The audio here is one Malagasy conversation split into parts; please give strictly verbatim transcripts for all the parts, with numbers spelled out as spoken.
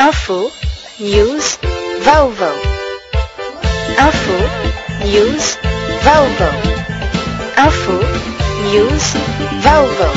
Info, news, vaovao. Info, news, vaovao. Info, news, vaovao.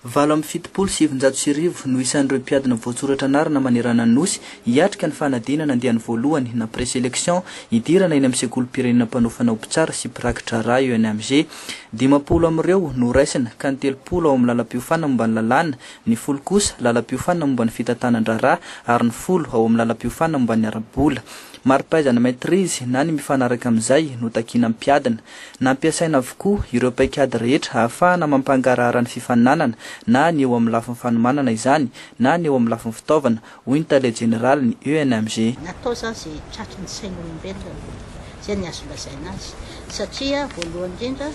Valo amby fitopolo sivinjato sy arivo no isan'ireo mpiadina voatsoratra anarana manerana ny nosy hiatrika ny fanadinana andiany voalohany na présélection hidirana eny amin'ny sekolim-pirenena mpanofana ho mpitsara sy mpiraki-draharaha E N M G. Dimampolo amin'ireo no raisina, ka ny telopolo ao amin'ny lalam-piofanana momba ny lalàna, ny folo kosa lalam-piofanana momba ny fitantanan-draharaha ary ny folo ao amin'ny lalam-piofanana momba ny ara-bola. Mari-pahaizana maîtrise na ny mifanaraka amin'izay no takiana mpiadina. Nampiasaina avokoa ireo paikady rehetra ahafahana mampangarahara ny fifaninanana, na ny eo amin'ny lafiny fanomanana izany na ny eo amin'ny lafiny fitaovana, hoy ny tale jeneraly ny E N M G. Natao zany zay tratry ny sain'olombelona, zay ny azo lazaina azy, satria voalohany indrindra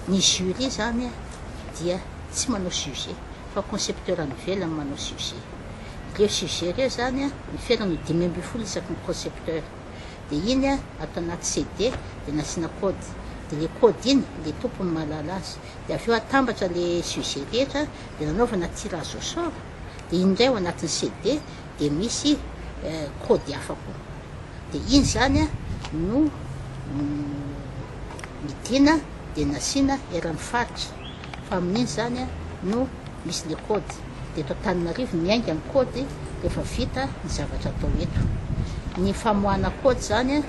ny jury zany dia tsy manao sujet fa concepteur any ivelany manao sujet. Reo sujet reo zany a miferana dimy amby folo isaky ny concepteur, de iny a atao anaty C D, de nasiana code, de le code iny le tompony mahalala azy, de avy eo atambatra le sujet rehetra, de nanaovana tirage au sort, de iny ndray ao anatin'ny C D de misy code hafa koa, de iny zany a no midina, de nasiana eran'ny faritra, fa amin'iny zany a no misy le code, de eto Antananarivo miainga ny code rehefa vita ny zavatra atao eto. Ny famoahana code zany a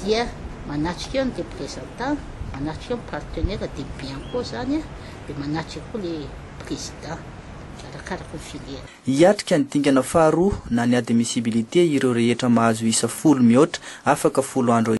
dia manatrika eo ny représentant, manatrika eo ny partenaire, de Bianco zany a de manatrika koa le président arakaraka ny filière. Hiatrika ny dingana faharoa na ny admissibilité ireo rehetra mahazo isa folo mihoatra afaka folo andro.